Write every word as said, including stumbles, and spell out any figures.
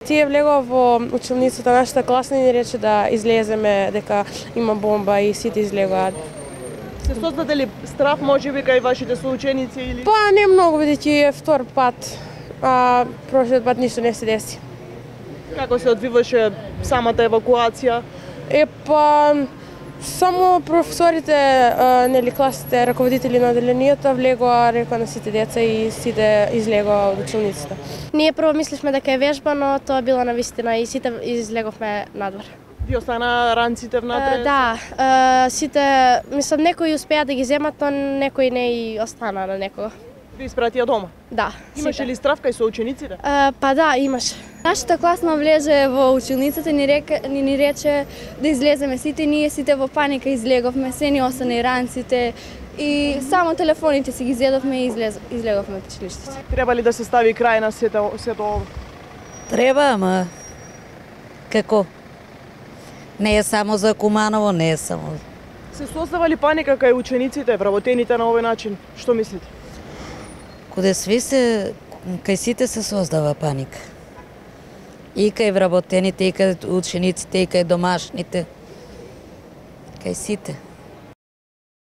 Тие влегува во училницата, нашата класна ни рече да излеземе, дека има бомба и сите излегуваат. Се создаде ли страх можеби кај вашите соученици или? Па не многу, бидејќи е втор пат, а прошлиот пат ништо не се деси. Како се одвиваше самата евакуација? Е па само професорите, нели класите, раководители на одделението влегоа, рекоа на сите деца и сите излегоа од училницата. Ние прво мислевме дека е вежба, но тоа било навистина и сите излеговме надвор. Ви остана ранците внатре? Uh, да, uh, сите, мислам, некои успеа да ги земат, но некои не и остана на некого. Ви испратија дома? Да. Имаше сите. ли страв кај соучениците? Uh, па да, имаше. Нашата класна влезе во училницата, ни, река, ни, ни рече да излеземе сите, ние сите во паника излеговме, се ни остана и ранците и само телефоните си ги зедовме и излез, излеговме од училиштето. Треба ли да се стави крај на сето, сето ова? Треба, ама како? Не е само за Куманово, не е само. Се создава ли паника кај учениците, вработените на овој начин? Што мислите? Каде сви се, кај сите се создава паника. И кај вработените, и кај учениците, и кај домашните. Кај сите.